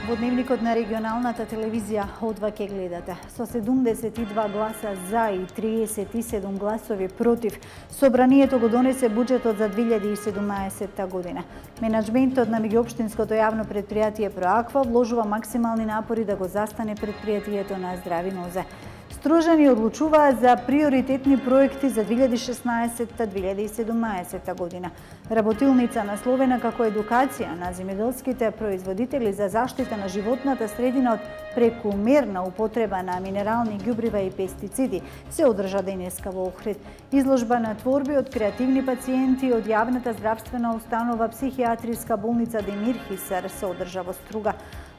Во дневникот на регионалната телевизија Одва ке гледате. Со 72 гласа за и 37 гласови против, собранието го донесе буџетот за 2017 година. Менаџментот на меѓуопштинското јавно предпријатие Проаква вложува максимални напори да го застане предпријатието на здрави нозе. Стружани одлучуваат за приоритетни проекти за 2016-2017 година. Работилница насловена како едукација на земјоделските производители за заштита на животната средина од прекумерна употреба на минерални ѓубрива и пестициди се одржа денеска во Охрид. Изложба на творби од креативни пациенти од јавната здравствена установа психијатриска болница Демир Хисар се одржа во Струга.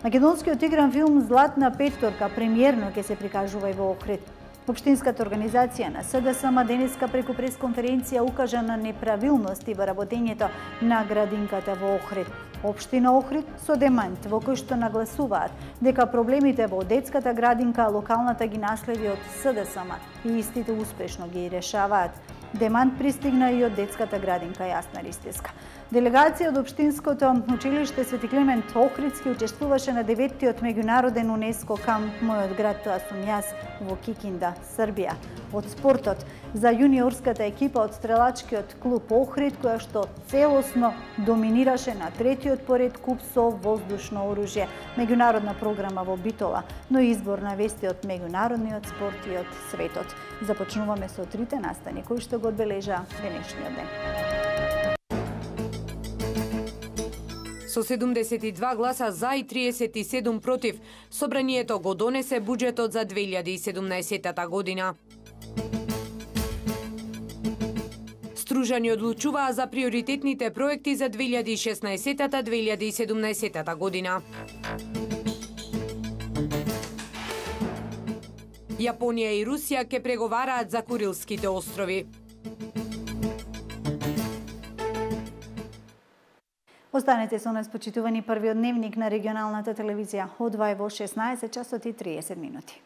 Македонскиот игран филм Златна петторка премиерно ќе се прикажува и во Охрид. Општинската организација на СДСМ денеска преку пресконференција укажа на неправилности во работењето на градинката во Охрид. Општина Охрид со демант во кој што нагласуваат дека проблемите во детската градинка локалната ги наследи од СДСМ и истите успешно ги решаваат. Демант пристигна и од детската градинка Јасна Ристевска. Делегација од Општинското училиште Свети Климент Охридски учествуваше на 9-тиот меѓународен УНЕСКО камп Мојот град, тоа сум јас, во Кикинда, Србија. Од спортот за јуниорската екипа од стрелачкиот клуб Охрид, која што целосно доминираше на 3-тиот поред куп со воздушно оружје, меѓународна програма во Битола, но и избор на вести од меѓународниот спорт и од светот. Започнуваме со трите настани кои што го одбележа денешниот ден. Со 72 гласа за и 37 против, собранието го донесе буџетот за 2017 година. Стружани одлучуваа за приоритетните проекти за 2016-2017 година. Јапонија и Русија ќе преговараат за Курилските острови. Останете со нас, почитувани, првиот дневник на регионалната телевизија Одва во 16 часот и 30 минути.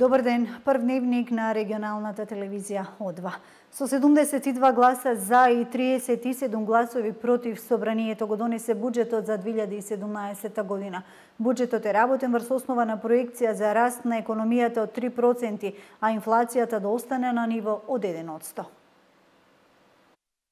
Добар ден, прв дневник на регионалната телевизија Одва. Со 72 гласа за и 37 гласови против, собранието го донесе буџетот за 2017 година. Буџетот е работен врз основа на проекција за раст на економијата од 3%, а инфлацијата да остане на ниво од 1%.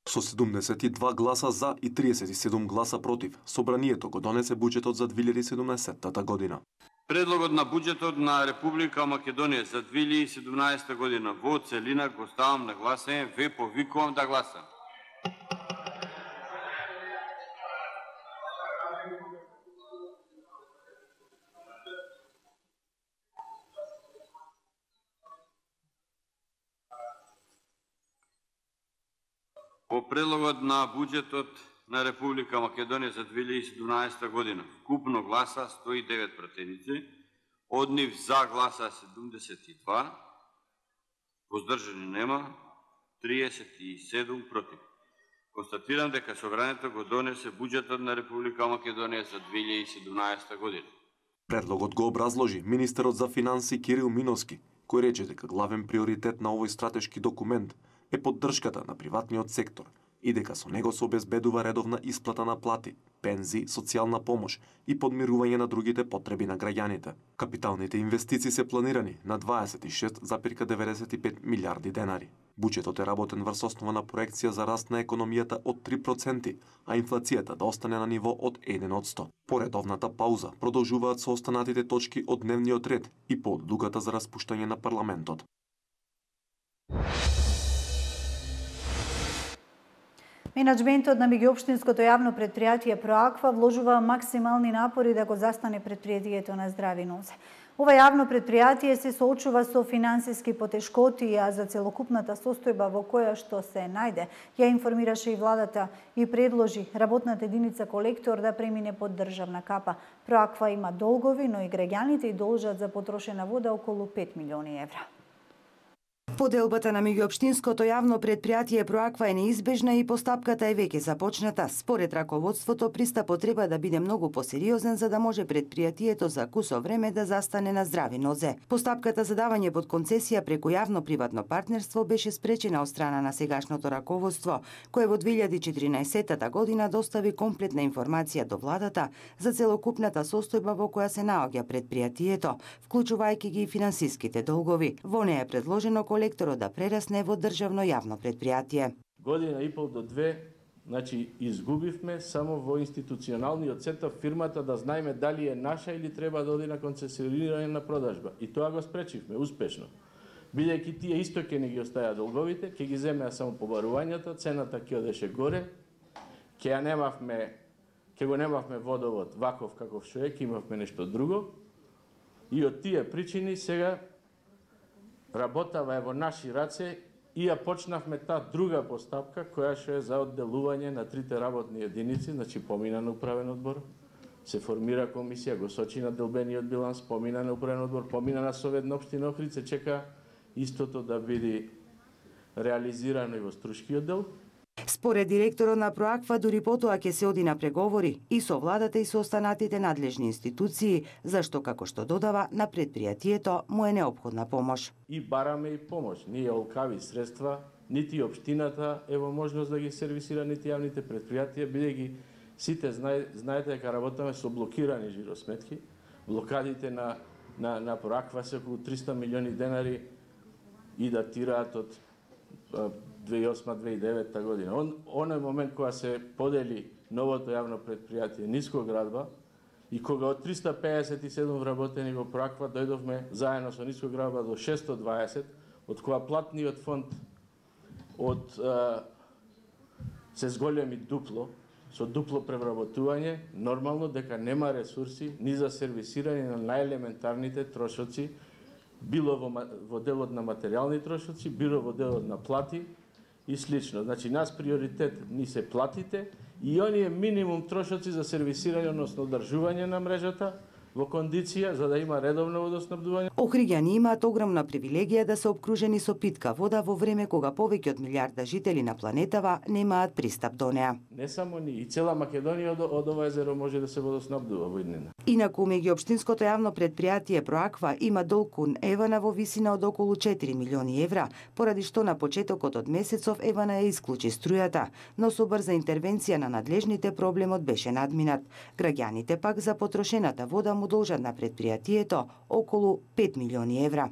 Со 72 гласа за и 37 гласа против, собранието го донесе буџетот за 2017 година. Предлогот на буџетот на Република Македонија за 2017 година во целина го ставам на гласање, ве повикувам да гласам. По предлогот на буџетот на Република Македонија за 2017 година вкупно гласа 109 пратеници, од нив за гласа 72, воздржани нема, 37 против. Констатирам дека собранието го донесе буџетот на Република Македонија за 2017 година. Предлогот го образложи министерот за финансии Кирил Миновски, кој рече дека главен приоритет на овој стратешки документ е поддршката на приватниот сектор и дека со него се обезбедува редовна исплата на плати, пензии, социјална помош и подмирување на другите потреби на граѓаните. Капиталните инвестиции се планирани на 26,95 милиарди денари. Буџетот е работен врз основа на проекција за раст на економијата од 3%, а инфлацијата да остане на ниво од 1%. По редовната пауза продолжуваат со останатите точки од дневниот ред и по одлуката за распуштање на парламентот. Менаџментот на меѓуопштинското јавно предпријатие Проаква вложува максимални напори да го застане предпријатието на здрави нозе. Ова јавно предпријатие се соочува со финансиски потешкоти, а за целокупната состојба во која што се најде, ја информираше и владата и предложи работната единица колектор да премине под државна капа. Проаква има долгови, но и граѓаните и должат за потрошена вода околу 5 милиони евра. Поделбата на меѓуопштинското јавно предпријатие Проаква е неизбежна и постапката е веќе започната. Според раководството, пристапот треба да биде многу посериозен за да може предпријатието за кусо време да застане на здрави нозе. Постапката за давање под концесија преку јавно-приватно партнерство беше спречена од страна на сегашното раководство, кое во 2014 година достави комплетна информација до владата за целокупната состојба во која се наоѓа предпријатието, вклучувајќи ги и финансиските долгови. Во неја е предложено колекторот да прерасне во државно јавно предпријатие. Година и пол до две, значи изгубивме само во институционалниот сетап фирмата да знаеме дали е наша или треба да оди на концесионирање на продажба. И тоа го спречивме успешно. Бидејќи тие исто ќе не ги оставија долговите, ќе ги земеа само побарувањата, цената ќе одеше горе, ќе го немавме водовод ваков каков што е, ќе имавме нешто друго. И од тие причини сега работава е во наши раце и ја почнавме таа друга постапка која што е за одделување на трите работни единици, значи помина на управен одбор, се формира комисија, го сочи на делбениот биланс, помина на управен одбор, помина на Совет на општина Охридска, чека истото да биде реализирано и во струшкиот дел. Според директорот на Проаква, дури потоа ќе се оди на преговори и со владата и со останатите надлежни институции, зашто, како што додава, на предпријатието му е неопходна помош. И бараме и помош. Ние олкави средства, нити општината е во можност да ги сервисира, нити јавните предпријатија, бидејќи сите знаете дека работаме со блокирани жиросметки. Блокадите на Проаква се околу 300 милиони денари и датираат од 2008-2009 година. Оној момент кога се подели новото јавно предпријатие Нискоградба и кога од 357 вработени во Проаква дојдовме заедно со Нискоградба до 620, од која платниот фонд се зголеми дупло, со дупло превработување, нормално дека нема ресурси ни за сервисирање на најелементарните трошоци, било во делот на материјални трошоци, било во делот на плати и слично. Значи, нас приоритет ни се платите и оние минимум трошоци за сервисирање, односно одржување на мрежата во кондиција за да има редовно водоснабдување. Охриѓани имаат огромна привилегија да се обкружени со питка вода во време кога повеќе од милиарда жители на планетава немаат пристап до неа. Не само ние, и цела Македонија од ова езеро може да се водоснабдува во иднина. Инаку меѓуопштинското јавно предпријатие Проаква има долг кон Евана во висина од околу 4 милиони евра, поради што на почетокот од месецов Евана ја исклучи струјата, но со брза интервенција на надлежните проблемот беше надминат. Граѓаните пак за потрошената вода му должат на предпријатието околу 5 милиони евра.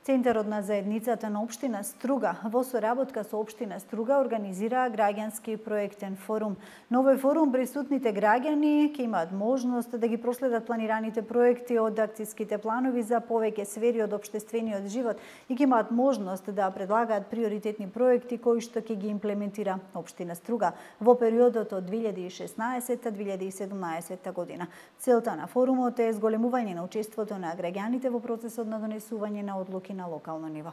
Центарот на заедницата на општина Струга во соработка со општина Струга организира граѓански проектен форум. На овој форум присутните граѓани ќе имаат можност да ги проследат планираните проекти од акциските планови за повеќе сфери од општествениот живот и ќе имаат можност да предлагаат приоритетни проекти кои што ќе ги имплементира општина Струга во периодот од 2016-2017 година. Целта на форумот е зголемување на учеството на граѓаните во процесот на донесување на одлуки на локално ниво.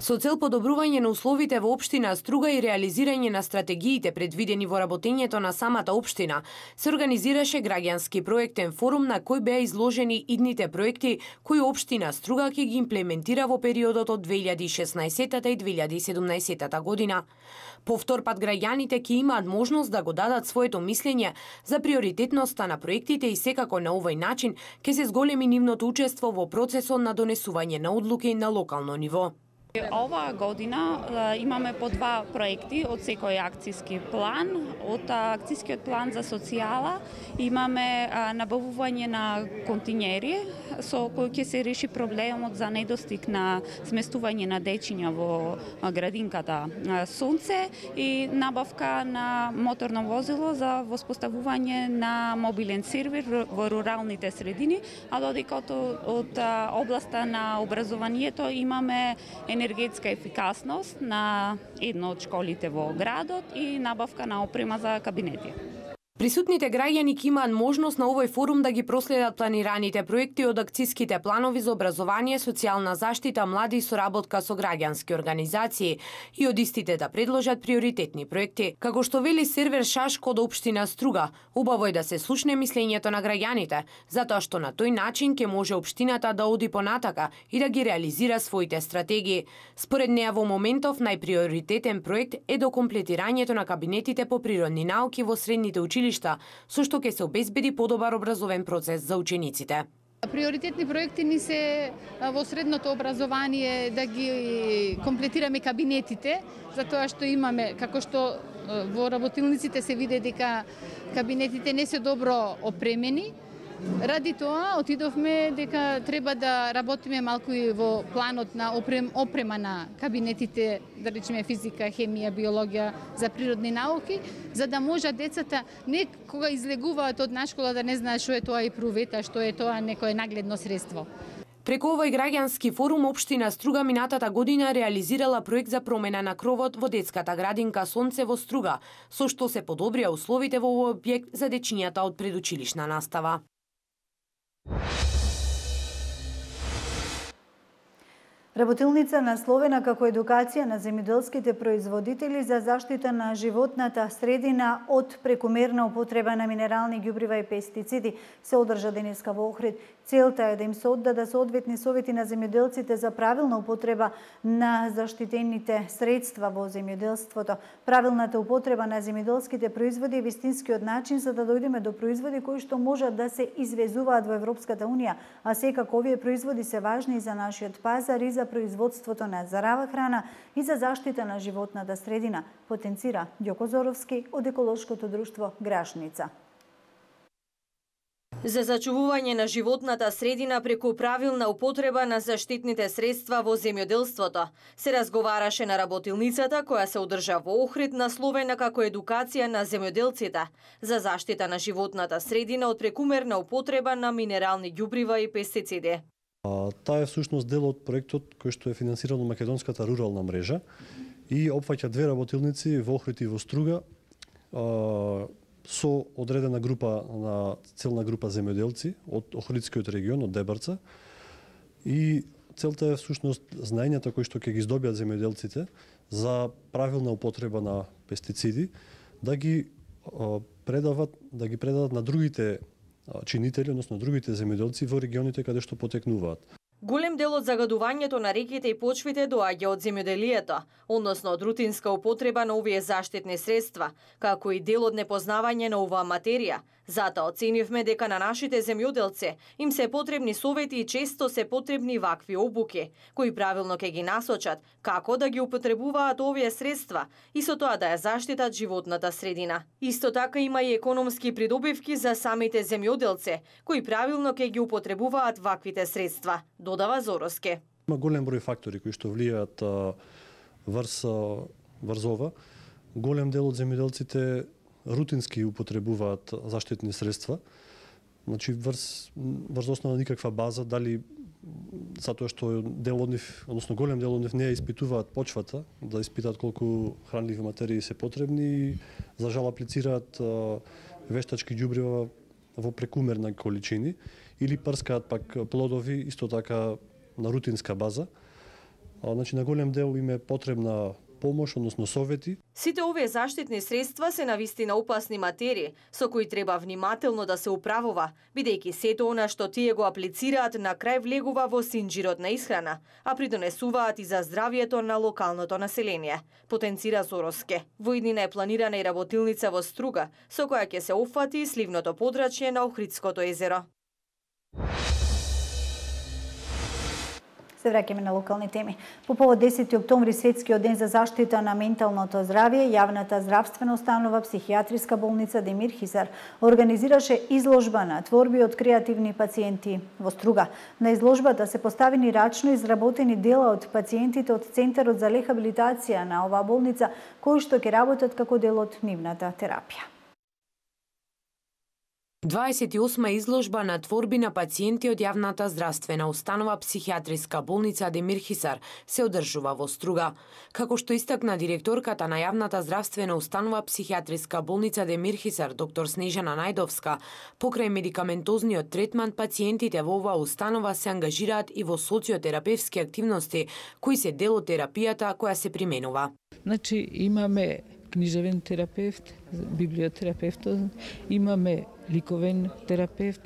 Со цел подобрување на условите во општина Струга и реализирање на стратегиите предвидени во работењето на самата општина, се организираше граѓански проектен форум на кој беа изложени идните проекти кои општина Струга ќе ги имплементира во периодот од 2016 и 2017 година. Повтор пат граѓаните ќе имаат можност да го дадат своето мислење за приоритетноста на проектите и секако на овој начин ќе се зголеми нивното учество во процесот на донесување на одлуки на локално ниво. Оваа година имаме по 2 проекти од секој акциски план. Од акцискиот план за социјала имаме набавување на континери со кој ќе се реши проблемот за недостиг на сместување на дечиња во градинката Сонце и набавка на моторно возило за воспоставување на мобилен сервер во руралните средини, а додека од областа на образованието имаме енергетска ефикасност на едно од школите во градот и набавка на опрема за кабинети. Присутните граѓани ќе имаат можност на овој форум да ги проследат планираните проекти од акциските планови за образование, социјална заштита, млади и соработка со граѓански организации и од истите да предложат приоритетни проекти. Како што вели Сервер Шашко од општина Струга, убаво е да се слушне мислењето на граѓаните, затоа што на тој начин ќе може општината да оди понатака и да ги реализира своите стратегии. Според неа во моментов најприоритетен проект е докомплетирањето на кабинетите по природни науки во средните училишта, со што ќе се обезбеди подобар образовен процес за учениците. Приоритетни проекти ни се во средното образование да ги комплетираме кабинетите, затоа што имаме, како што во работилниците се види дека кабинетите не се добро опремени. Ради тоа отидовме дека треба да работиме малку и во планот на опрема на кабинетите, да речеме физика, хемија, биологија, за природни науки, за да може децата не кога излегуваат од на школа да не знаат што е тоа и прувета, што е тоа некое нагледно средство. Преку овој граѓански форум општина Струга минатата година реализирала проект за промена на кровот во детската градинка Сонце во Струга, со што се подобрија условите во овој објект за дечињата од предучилишна настава. Работилница насловена како едукација на земјоделските производители за заштита на животната средина од прекумерна употреба на минерални ѓубрива и пестициди се одржа денеска во Охрид. Целта е да им се оддадат соодветни совети на земјоделците за правилна употреба на заштитените средства во земјоделството. Правилната употреба на земјоделските производи е вистинскиот начин за да дојдеме до производи кои што можат да се извезуваат во Европската унија, а секако овие производи се важни и за нашиот пазар и за производството на зарава храна и за заштита на животната средина, потенцира Ѓоко Зоровски од еколошкото друштво Грашница. За зачувување на животната средина преку правилна употреба на заштитните средства во земјоделството се разговараше на работилницата која се одржа во Охрид, насловена како едукација на земјоделците за заштита на животната средина од прекумерна употреба на минерални ѓубрива и пестициди. Таа е всушност дел од проектот кој што е финансиран од Македонската рурална мрежа и опфаќа две работилници во Охрид и во Струга со одредена група на целна група земјоделци од Охридскиот регион, од Дебарца. И целта е всушност знаењата кои што ќе ги здобиат земјоделците за правилна употреба на пестициди да ги предадат на другите чинители, односно другите земјоделци во регионите каде што потекнуваат. Голем дел од загадувањето на реките и почвите доаѓа од земјоделието, односно од рутинска употреба на овие заштитни средства, како и дел од непознавање на оваа материја. Затоа оценивме дека на нашите земјоделци им се потребни совети и често се потребни вакви обуки, кои правилно ќе ги насочат како да ги употребуваат овие средства и со тоа да ја заштитат животната средина. Исто така има и економски придобивки за самите земјоделци, кои правилно ќе ги употребуваат ваквите средства, додава Зоровски. Има голем број фактори кои што влијаат врз ова. Голем дел од земјоделците рутински употребуваат заштитни средства. Значи врз основа на никаква база, дали затоа што дел од нив, односно голем дел од нив не ја испитуваат почвата, да испитаат колку хранливи материи се потребни и за жал аплицираат вештачки ѓубрива во прекумерни количини или прскаат пак плодови исто така на рутинска база. Значи на голем дел им е потребна помош, односно совети. Сите овие заштитни средства се навистина опасни материи, со кои треба внимателно да се управува, бидејќи сето она што тие го аплицираат на крај влегува во синџирот на исхрана, а придонесуваат и за здравието на локалното население, потенцира Зоровски. Во иднина е планирана и работилница во Струга, со која ќе се опфати сливното подрачје на Охридското езеро. Се враќаме на локални теми. По повод 10 октомври, светскиот ден за заштита на менталното здравје, јавната здравствена установа Психијатриска болница Демир Хисар организираше изложба на творби од креативни пациенти во Струга. На изложбата се поставени рачно изработени дела од пациентите од Центарот за рехабилитација на оваа болница, кои што ќе работат како дел од нивната терапија. 28-ма изложба на творби на пациенти од јавната здравствена установа психијатриска болница Демир Хисар се одржува во Струга. Како што истакна директорката на јавната здравствена установа психијатриска болница Демир Хисар, доктор Снежана Најдовска, покрај медикаментозниот третман, пациентите во оваа установа се ангажираат и во социотерапевски активности, кои се дел од терапијата која се применува. Значи, имаме книжевен терапевт, библиотерапевт, имаме ликовен терапевт,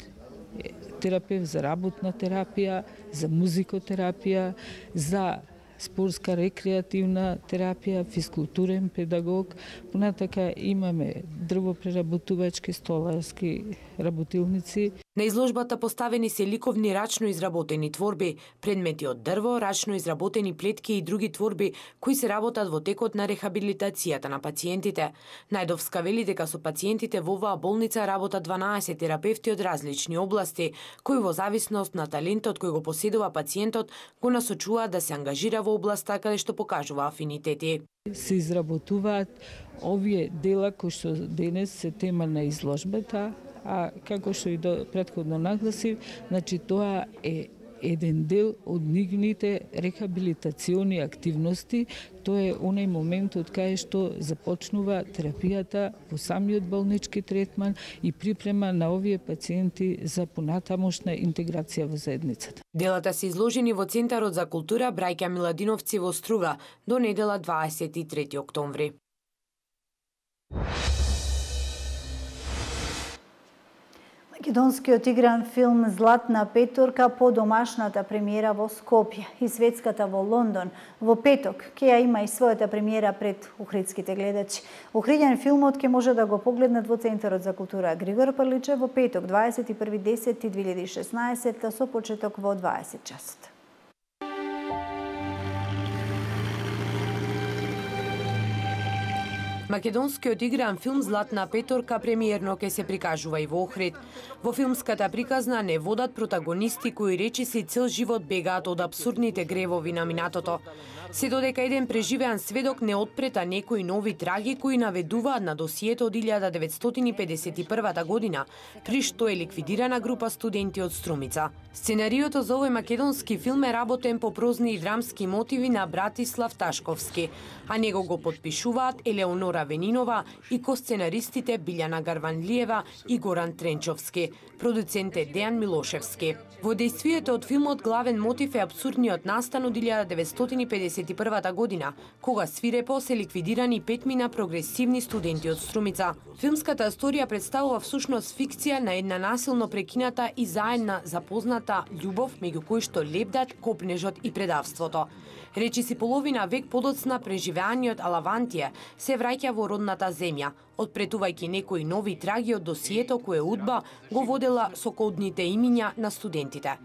терапевт за работна терапија, за музикотерапија, за спортска рекреативна терапија, физкултурен педагог. Понатака имаме дрвопреработувачки, столарски работилници. На изложбата поставени се ликовни рачно изработени творби, предмети од дрво, рачно изработени плетки и други творби кои се работат во текот на рехабилитацијата на пациентите. Најдовска вели дека со пациентите во оваа болница работат 12 терапевти од различни области, кои во зависност на талентот кој го поседува пациентот го насочуваат да се ангажира во областа каде што покажува афинитети. Се изработуваат овие дела кои што денес се тема на изложбата, а како што и претходно нагласив, значи тоа е еден дел од нивните рехабилитациони активности. Тоа е онај моментот кај што започнува терапијата во самиот болнички третман и припрема на овие пациенти за понатамошна интеграција во заедницата. Делата се изложени во Центарот за култура Браќа Миладиновци во Струга до недела 23 октомври. Македонскиот игран филм Златна петорка по домашната премиера во Скопје и светската во Лондон во петок ќе ја има и својата премиера пред охридските гледачи. Охриден филмот ќе може да го погледнат во Центарот за култура Григор Прличе во петок 21.10.2016 со почеток во 20 часот. Македонскиот игран филм Златна петорка премиерно ќе се прикажува и во Охрид. Во филмската приказна не водат протагонисти кои речиси цел живот бегаат од абсурдните гревови на минатото. Се додека еден преживеан сведок не отпрета некои нови траги кои наведуваат на досието од 1951 година, при што е ликвидирана група студенти од Струмица. Сценариото за овој македонски филм е работен по прозни и драмски мотиви на Братислав Ташковски, а него го подпишуваат Елеонора Венинова и косценаристите Билјана Гарванлиева и Горан Тренчовски. Продуцент е Дејан Милошевски. Во дејствието од филмот главен мотив е абсурдниот настан од 1951 година, кога свирепо се ликвидирани 5 прогресивни студенти од Струмица. Филмската историја представува всушност фикција на една насилно прекината и заедна запозната љубов меѓу кои што лебдат копнежот и предавството. Речиси половина век подоцна преживеаниот Алавантија се враќа во родната земја, отпретувајќи некои нови траги од досието кое Удба го водела со кодните имиња на студентите.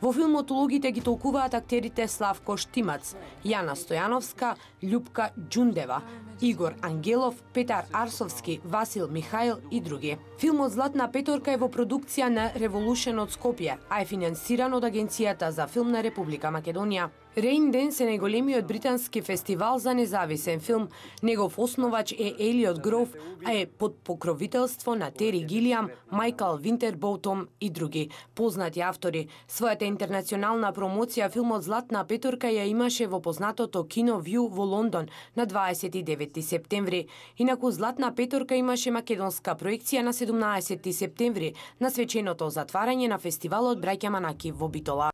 Во филмот улогите ги толкуваат актерите Славко Штимац, Јана Стојановска, Љупка Ѓундева, Игор Ангелов, Петар Арсовски, Васил Михаил и други. Филмот Златна петорка е во продукција на Revolution од Скопје, а е финансиран од Агенцијата за филм на Република Македонија. Рейн Денс е најголемиот британски фестивал за независен филм. Негов основач е Елиот Гроув, а е под покровителство на Тери Гилиам, Майкл Винтерботом и други познати автори. Својата интернационална промоција филмот Златна петорка ја имаше во познатото Кино Вју во Лондон на 29 септември. Инаку Златна петорка имаше македонска проекција на 17 септември на свеченото затварање на фестивалот Браќа Манаки во Битола.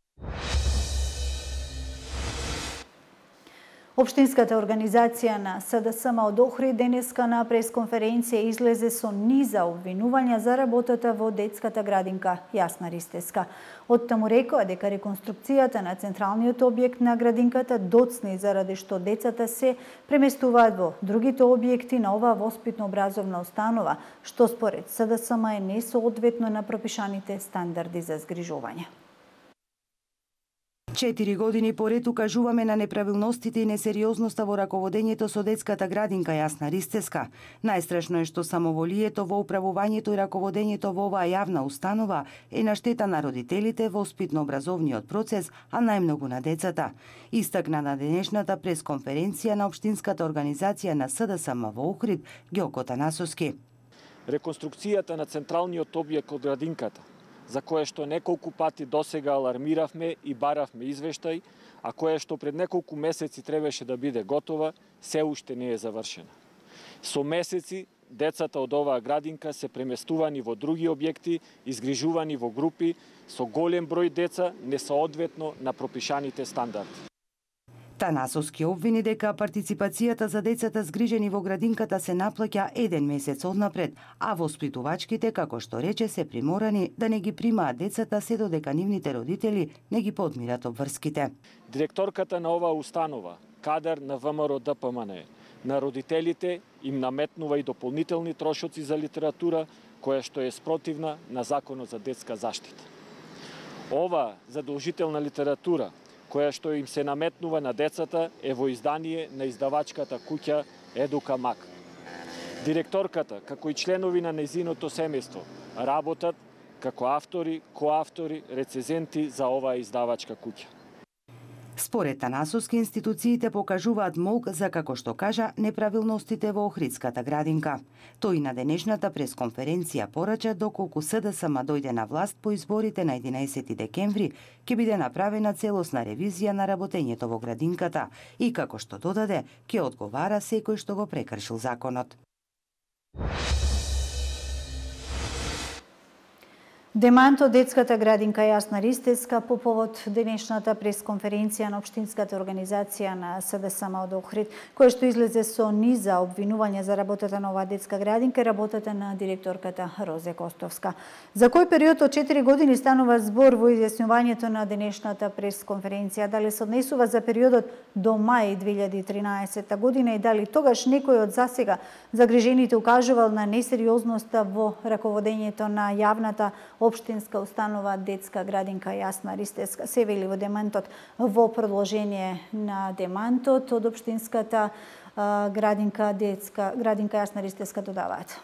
Општинската организација на СДСМ од Охрид денеска на пресконференција излезе со низа обвинувања за работата во детската градинка Јасна Ристеска. Од таму рекоа дека реконструкцијата на централниот објект на градинката доцни заради што децата се преместуваат во другите објекти на оваа воспитно-образовна установа, што според СДСМ е несоодветно на пропишаните стандарди за згрижување. 4 години поред укажуваме на неправилностите и несериозноста во раководењето со детската градинка Јасна Ристеска. Најстрашно е што самоволието во управувањето и раководењето во оваа јавна установа е на штета на родителите, воспитно-образовниот процес, а најмногу на децата. Истакна на денешната пресконференција на Општинската организација на СДСМ во Охрид Ѓоко Танасовски. Реконструкцијата на централниот објект од градинката, за кое што неколку пати досега алармиравме и баравме извештај, а кое што пред неколку месеци требаше да биде готова, се уште не е завршена. Со месеци, децата од оваа градинка се преместувани во други објекти, изгрижувани во групи, со голем број деца, несоодветно на пропишаните стандарди. Танасовски обвини дека партиципацијата за децата згрижени во градинката се наплаќа 1 месец однапред, а воспитувачките, како што рече, се приморани да не ги примаат децата се додека нивните родители не ги подмират обврските. Директорката на оваа установа, кадар на ВМРО ДПМН, на родителите им наметнува и дополнителни трошоци за литература, која што е спротивна на Законот за детска заштита. Ова задолжителна литература, која што им се наметнува на децата, е во издание на издавачката куќа Едука Мак. Директорката, како и членови на нејзиното семејство, работат како автори, коавтори, рецензенти за оваа издавачка куќа. Според Танасовски, институциите покажуваат молк за, како што кажа, неправилностите во Охридската градинка. Тој на денешната пресконференција порача доколку СДСМ дојде на власт по изборите на 11 декември, ќе биде направена целосна ревизија на работењето во градинката и, како што додаде, ќе одговара секој што го прекршил законот. Демант од детската градинка Јасна Ристевска по повод денешната пресконференција на Општинската организација на СДСМ од Охрид, која што излезе со низа обвинувања за работата на оваа детска градинка и работата на директорката Розе Костовска. За кој период од 4 години станува збор во изјаснувањето на денешната пресконференција? Дали се однесува за периодот до мај 2013 година и дали тогаш некој од засега загрижените укажувал на несериозноста во раководењето на јавната Општинска установа детска градинка Јасна Ристевска? Се вели во демантот. Во продолжение на демантот од Општинската градинка Јасна Ристевска додаваат: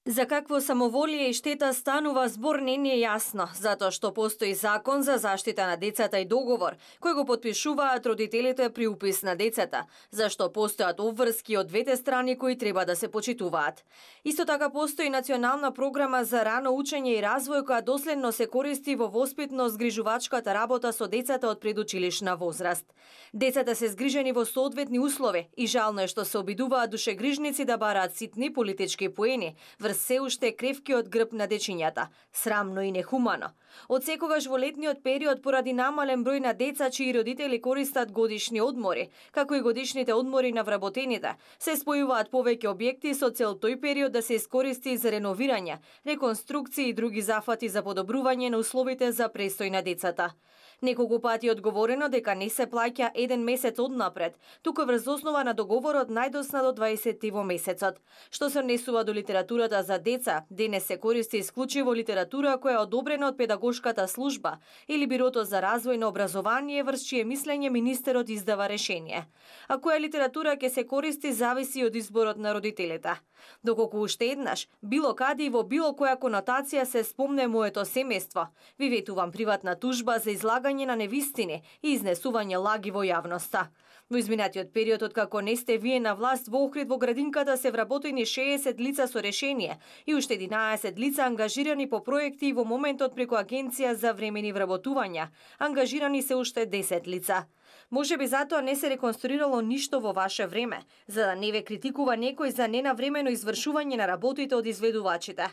За какво самоволие и штета станува збор не е јасно, затоа што постои закон за заштита на децата и договор, кој го потпишуваат родителите при упис на децата, зашто постојат обврски од двете страни кои треба да се почитуваат. Исто така постои национална програма за рано учење и развој која доследно се користи во воспитно-згрижувачката работа со децата од предучилишна возраст. Децата се згрижени во соодветни услови и жално е што се обидуваат душегрижници да бараат ситни политички поени, се уште кревкиот грб на дечињата. Срамно и нехумано. Од секогаш во летниот период, поради намален број на деца чии родители користат годишни одмори, како и годишните одмори на вработените, се спојуваат повеќе објекти со цел тој период да се искористи за реновирање, реконструкции и други зафати за подобрување на условите за престој на децата. Неколку пати одговорено дека не се плаќа 1 месец однапред, туку врз основа на договорот најдосна до 20 во месецот. Што се однесува до литературата за деца, денес се користи исклучиво литература која е одобрена од педагошката служба или Бирото за развој на образование, врз чие мислење министерот издава решение. А која литература ќе се користи зависи од изборот на родителите. Доколку уште еднаш, било каде и во било која конотација се спомне моето семејство, ви ветувам приватна тужба за излагање на невистини и изнесување лаги во јавноста. Во изминатиот период, откако не сте вие на власт, во Охрид во градинката се вработени 60 лица со решение и уште 11 лица ангажирани по проекти и во моментот преку Агенција за времени вработувања. Ангажирани се уште 10 лица. Може би затоа не се реконструирало ништо во ваше време, за да не ве критикува некој за ненавремено извршување на работите од изведувачите.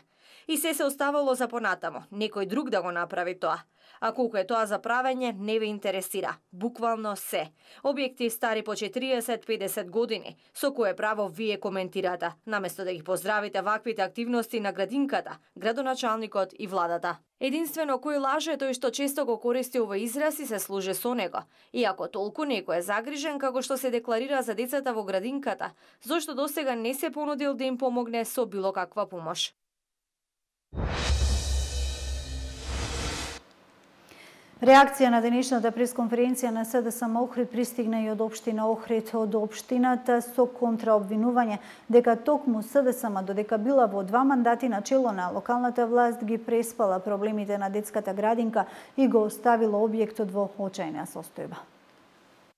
И се оставало за понатамо, некој друг да го направи тоа. А колку е тоа за правење, не ве интересира. Буквално се. Објекти стари по 40-50 години, со кое право вие коментирате, наместо да ги поздравите ваквите активности на градинката, градоначалникот и владата. Единствено кој лаже тој што често го користи овој израз и се служи со него. Иако толку некој е загрижен како што се декларира за децата во градинката, зошто досега не се понудил да им помогне со било каква помош. Реакција на денешната пресконференција на СДСМ Охрид пристигна и од Општина Охрид. Од Општината со контраобвинување дека токму СДСМ додека била во 2 мандати на чело на локалната власт ги преспала проблемите на детската градинка и го оставила објектот во очајна состојба.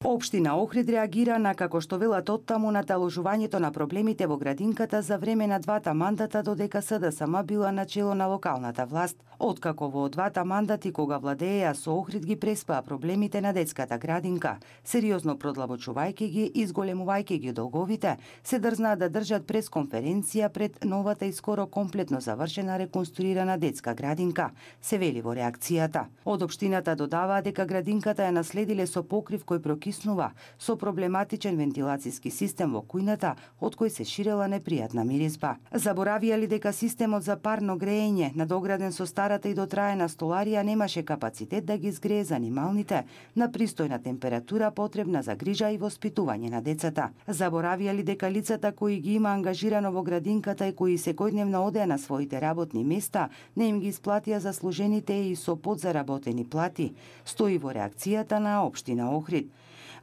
Општина Охрид реагира на, како што велат оттаму, наталожувањето на проблемите во градинката за време на двата мандата додека СДСМ била начело на локалната власт. Откако во двата мандати кога владееа со Охрид ги преспаа проблемите на детската градинка, сериозно продлабочувајќи ги и изголемувајќи ги долговите, се дрзнаа да држат пресконференција пред новата и скоро комплетно завршена реконструирана детска градинка, се вели во реакцијата. Од општината додаваа дека градинката ја наследиле со покрив кој прокиснува, со проблематичен вентилацијски систем во кујната, од кој се ширела непријатна миризба. Заборавија ли дека системот за парно греење, надограден со старата и дотраена столарија, немаше капацитет да ги згрее занималните на пристојна температура потребна за грижа и воспитување на децата. Заборавија ли дека лицата кои ги има ангажирано во градинката и кои секојдневно одеа на своите работни места, не им ги исплатија заслужените и со подзаработени плати, стои во реакцијата на општина Охрид.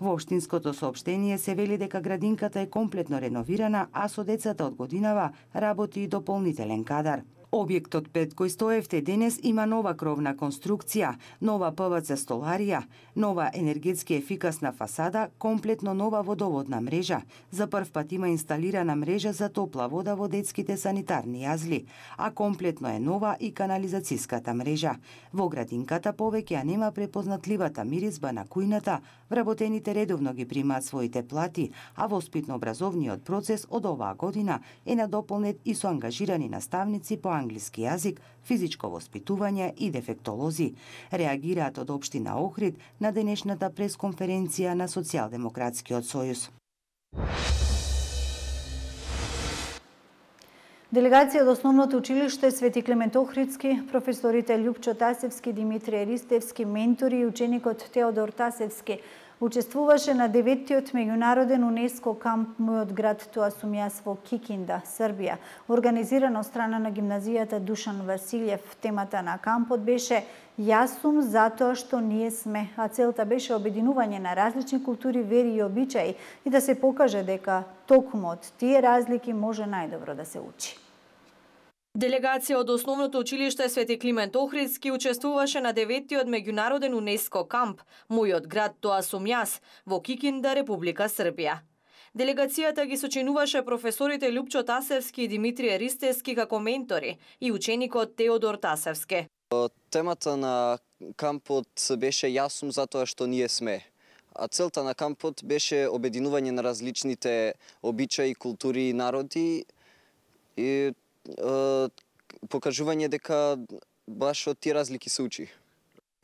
Во општинското соопштение се вели дека градинката е комплетно реновирана, а со децата од годинава работи и дополнителен кадар. Објектот пред кој стоевте денес има нова кровна конструкција, нова ПВЦ столарија, нова енергетски ефикасна фасада, комплетно нова водоводна мрежа. За прв пат има инсталирана мрежа за топла вода во детските санитарни јазли, а комплетно е нова и канализацијската мрежа. Во градинката повеќе ја нема препознатливата миризба на кујната, вработените редовно ги примаат своите плати, а воспитно-образовниот процес од оваа година е надополнет и со ангажирани наставници по англиски јазик, физичко воспитување и дефектолози. Реагираат од општина Охрид на денешната пресконференција на Социјалдемократскиот сојуз. Делегација од Основното училиште Свети Климент Охридски, професорите Љупчо Тасевски, Димитрije Ристевски, ментори и ученикот Теодор Тасевски учествуваше на 9-тиот меѓународен УНЕСКО камп Мојот град, тоа сум јас во Кикинда, Србија, организиран од страна на гимназијата Душан Василјев. Темата на кампот беше "Јас сум затоа што ние сме", а целта беше обединување на различни култури, вери и обичаи и да се покаже дека токму од тие разлики може најдобро да се учи. Делегација од Основното училиште Свети Климент Охридски учествуваше на 9-тиот меѓународен УНЕСКО камп Мојот град, тоа сум јас во Кикинда, Република Србија. Делегацијата ги сочинуваше професорите Љупчо Тасевски и Димитрije Ристевски како ментори и ученикот Теодор Тасевски. Темата на кампот беше "Јас сум затоа што ние сме". А целта на кампот беше обединување на различните обичаи, култури и народи и покажување дека баш од тие разлики се учи.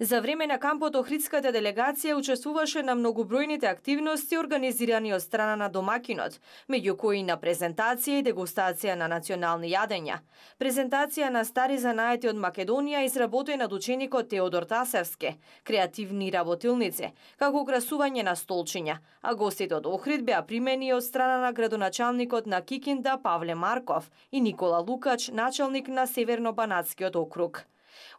За време на кампот Охридската делегација учествуваше на многобројните активности организирани од страна на домакинот, меѓу кои на презентација и дегустација на национални јадења, презентација на стари занаети од Македонија изработена од ученикот Теодор Тасевски, креативни работилници, како украсување на столчиња, а гостите од Охрид беа примени од страна на градоначалникот на Кикинда Павле Марков и Никола Лукач, началник на Северно-Банатскиот округ.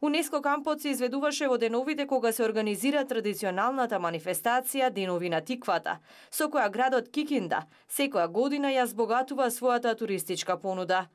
УНЕСКО кампот се изведуваше во деновите кога се организира традиционалната манифестација Денови на тиквата, со која градот Кикинда секоја година ја збогатува својата туристичка понуда.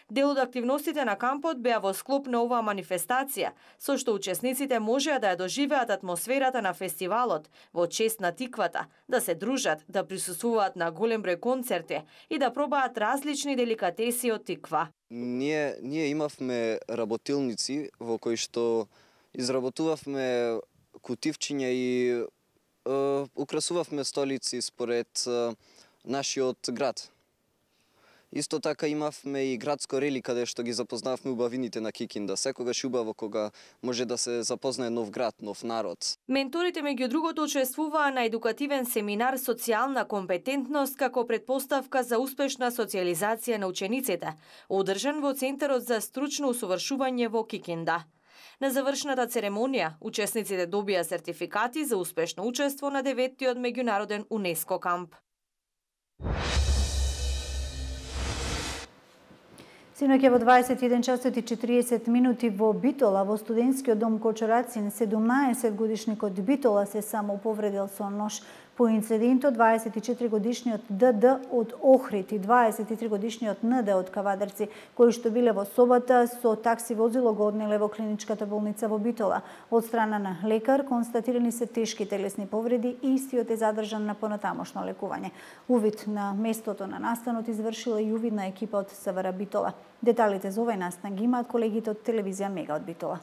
Дел од активностите на кампот беа во склоп на оваа манифестација, со што учесниците можеа да ја доживеат атмосферата на фестивалот во чест на тиквата, да се дружат, да присуствуваат на голем број концерти и да пробаат различни деликатеси од тиква. Ние имавме работилници во кои што изработувавме кутивчиња и украсувавме столици според нашиот град. Исто така имавме и градско рели каде што ги запознавме убавините на Кикинда. Секогаш убаво кога може да се запознае нов град, нов народ. Менторите меѓу другото учествуваа на едукативен семинар Социјална компетентност како предпоставка за успешна социјализација на учениците, одржан во Центарот за стручно усовршување во Кикинда. На завршната церемонија, учесниците добија сертификати за успешно учество на 9-тиот меѓународен УНЕСКО камп. Синоќ во 21 часот и 40 минути во Битола, во студентскиот дом Кочорацин, 17 годишникот Битола се самоповредил со нож. По инцидентот 24-годишниот ДД од Охрид и 23-годишниот НД од Кавадарци, кои што биле во собата со такси возило го однеле во клиничката болница во Битола. Од страна на лекар констатирани се тешки телесни повреди и истиот е задржан на понатамошно лекување. Увид на местото на настанот извршила и увидна екипа од СВР Битола. Деталите за овој настан ги имаат колегите од телевизија Мега од Битола.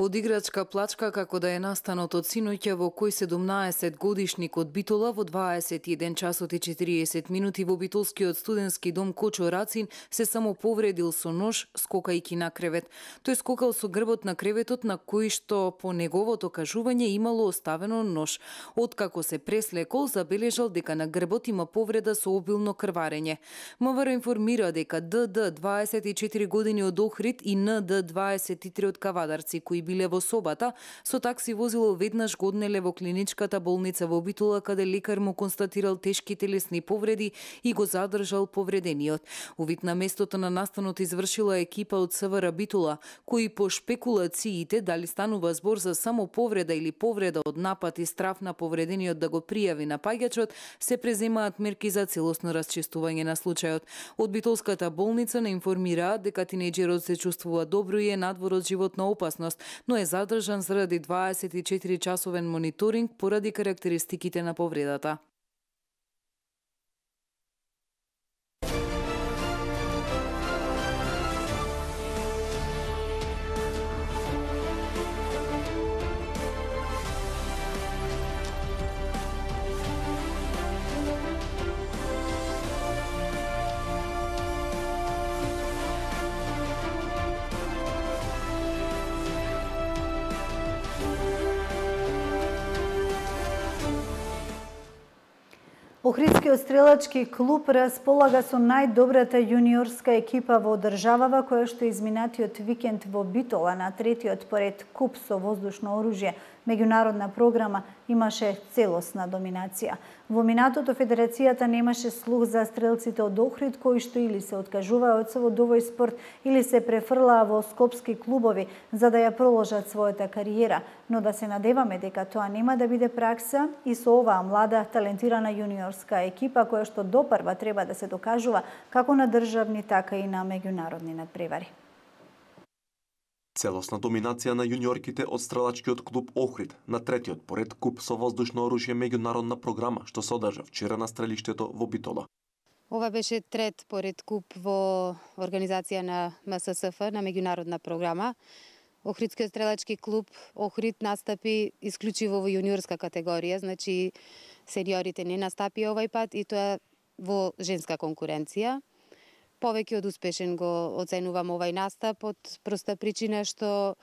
Од играчка плачка како да е настанот од синоќа во кој 17 годишник од Битола во 21 часот и 40 минути во битолскиот студентски дом Кочо Рацин се само повредил со нож скокајќи на кревет. Тој скокал со грбот на креветот на кој што по неговото кажување имало оставено нож. Откако се преслекол, забележал дека на грбот има повреда со обилно крварење. МВР информира дека ДД 24 години од Охрид и НД 23 од Кавадарци кои биле во собата, со такси возило веднаш го однеле во клиничката болница во Битола, каде лекар му констатирал тешки телесни повреди и го задржал повредениот. Увид на местото на настанот извршила екипа од СВР Битола, кои по шпекулациите дали станува збор за само повреда или повреда од напад и страф на повредениот да го пријави напаѓачот, се преземаат мерки за целосно расчистување на случајот. Од Битолската болница не информираат дека тинејџерот се чувствува добро и е надвор од животна опасност, но е задржан заради 24-часовен мониторинг поради карактеристиките на повредата. Охридскиот стрелачки клуб располага со најдобрата јуниорска екипа во државава, која што изминатиот викенд во Битола на третиот поред куп со воздушно оружје меѓународна програма имаше целосна доминација. Во минатото федерацијата немаше слух за стрелците од Охрид кои што или се откажуваа од совот овој спорт или се префрлаа во скопски клубови за да ја проложат својата кариера, но да се надеваме дека тоа нема да биде пракса и со оваа млада талентирана јуниорска екипа која што допрва треба да се докажува како на државни така и на меѓународни надпревари. Целосна доминација на јуниорките од стрелачкиот клуб Охрид на третиот поред куп со воздушно оружје меѓународна програма што се одржа вчера на стрелиштето во Битола. Ова беше трет поред куп во организација на МССФ на меѓународна програма. Охридскиот стрелачки клуб Охрид настапи исклучиво во јуниорска категорија, значи сениорите не настапи овај пат и тоа во женска конкуренција. Повеќе од успешен го оценувам овај настап од проста причина што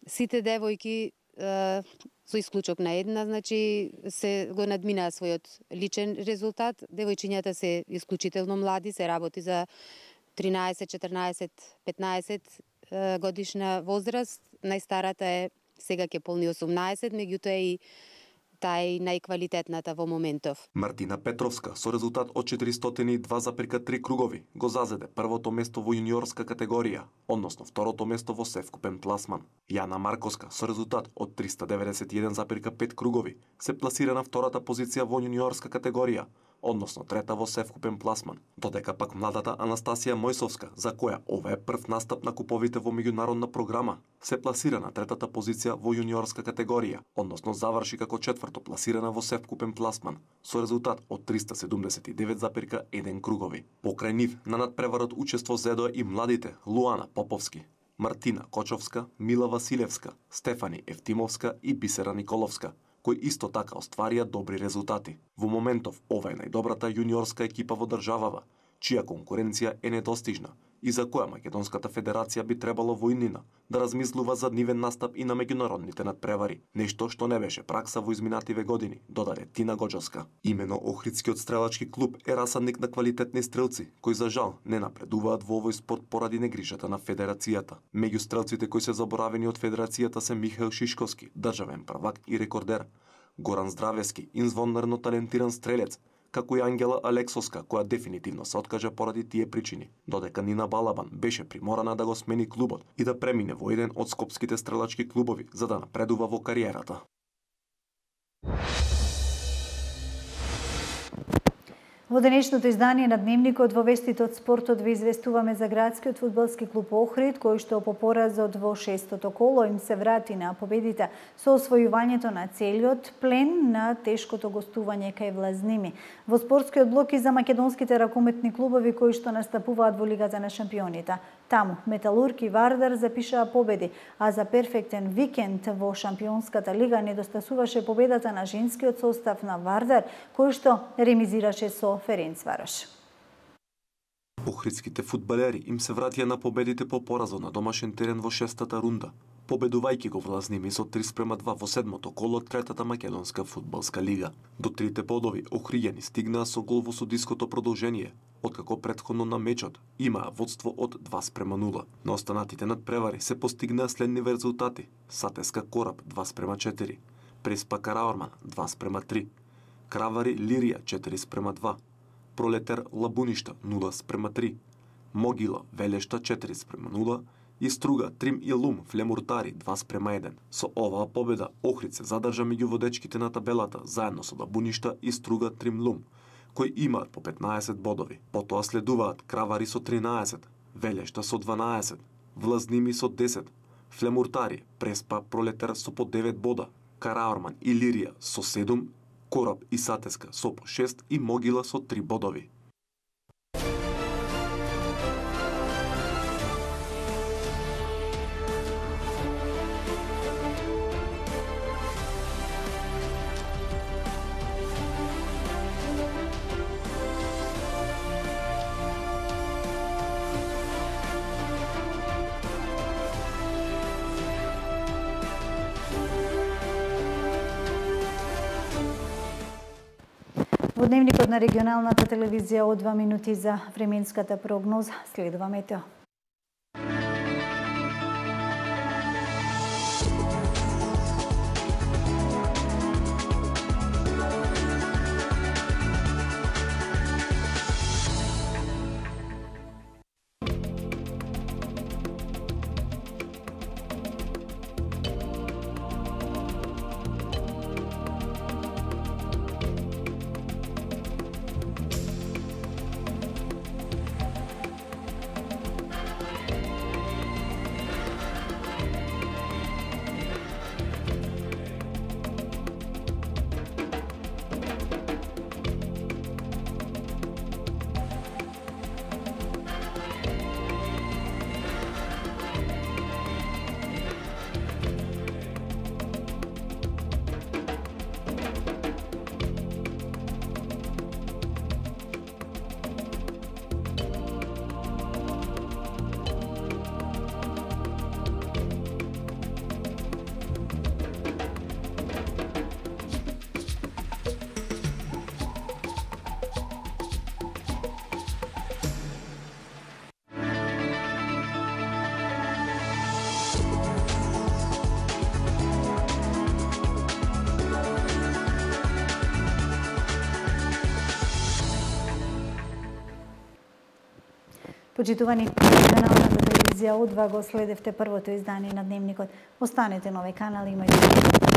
сите девојки со исклучок на една, значи се го надминаа својот личен резултат. Девојчињата се исклучително млади, се работи за 13, 14, 15 годишна возраст. Најстарата е сега ќе полни 18, меѓутоа и таа е најквалитетната во моментов. Мартина Петровска со резултат од 402,3 кругови го зазеде првото место во јуниорска категорија, односно второто место во севкупен пласман. Јана Марковска со резултат од 391,5 кругови се пласира на втората позиција во јуниорска категорија, односно трета во севкупен пласман, додека пак младата Анастасија Мојсовска, за која ова е прв настап на куповите во меѓународна програма, се пласира на третата позиција во јуниорска категорија, односно заврши како четврто пласирана во севкупен пласман, со резултат од 379,1 кругови. Покрај нив на надпреварот учество зедоа и младите Луана Поповски, Мартина Кочовска, Мила Василевска, Стефани Евтимовска и Бисера Николовска, кои исто така остварија добри резултати. Во моментов ова е најдобрата јуниорска екипа во државава, чија конкуренција е недостижна и за која Македонската федерација би требало во иднина да размислува за нивен настап и на меѓународните надпревари, нешто што не беше пракса во изминативе години, додаде Тина Гоџовска. Имено Охридскиот стрелачки клуб е расадник на квалитетни стрелци, кои за жал не напредуваат во овој спорт поради негрижата на федерацијата. Меѓу стрелците кои се заборавени од федерацијата се Михаил Шишковски, државен првак и рекордер, Горан Здравевски, извонерно талентиран стрелец, како и Ангела Алексовска, која дефинитивно се откажа поради тие причини, додека Нина Балабан беше приморана да го смени клубот и да премине во еден од скопските стрелачки клубови за да напредува во кариерата. Во денешното издание на Дневникот во вестите од спортот ви известуваме за градскиот фудбалски клуб Охрид, кој што по поразот во 6-то коло им се врати на победите со освојувањето на целиот плен на тешкото гостување кај Влазними. Во спортскиот блок и за македонските ракометни клубови кои што настапуваат во Лигата на шампионите. Таму Металург и Вардар запишаа победи, а за перфектен викенд во Шампионската лига недостасуваше победата на женскиот состав на Вардар, кој што ремизираше со Ференцварош. Охридските фудбалери им се вратија на победите по поразот на домашен терен во 6-та рунда, победувајќи го Влазними со 3:2 во 7-то коло од 3-та македонска фудбалска лига. До 3 бодови охријани стигнаа со гол во судиското продолжение, откако претходно на мечот имаа водство од 2:0. На останатите надпревари се постигнаа следниви резултати: Сатеска Кораб 2:4, Преспа Караорман 2:3, Кравари Лирија 4:2, Пролетер Лабуништа 0:3, Могила Велешта 4:0 и Струга Трим и Лум Флемуртари 2:1. Со оваа победа Охрид се задржа меѓу водечките на табелата заедно со Лабуништа и Струга Трим Лум, кои имаат по 15 бодови. Потоа следуваат Кравари со 13, Велешта со 12, Влазними со 10, Флемуртари, Преспа, Пролетер со по 9 бода, Караорман и Лирија со 7, Кораб и Сатеска со по 6 и Могила со 3 бодови. Во Дневникот на регионалната телевизија од 2 минути за временската прогноза следува метео. Почитувани, регионалната телевизија од 2 го следевте првото издание на Дневникот. Останете на овој канал, имајте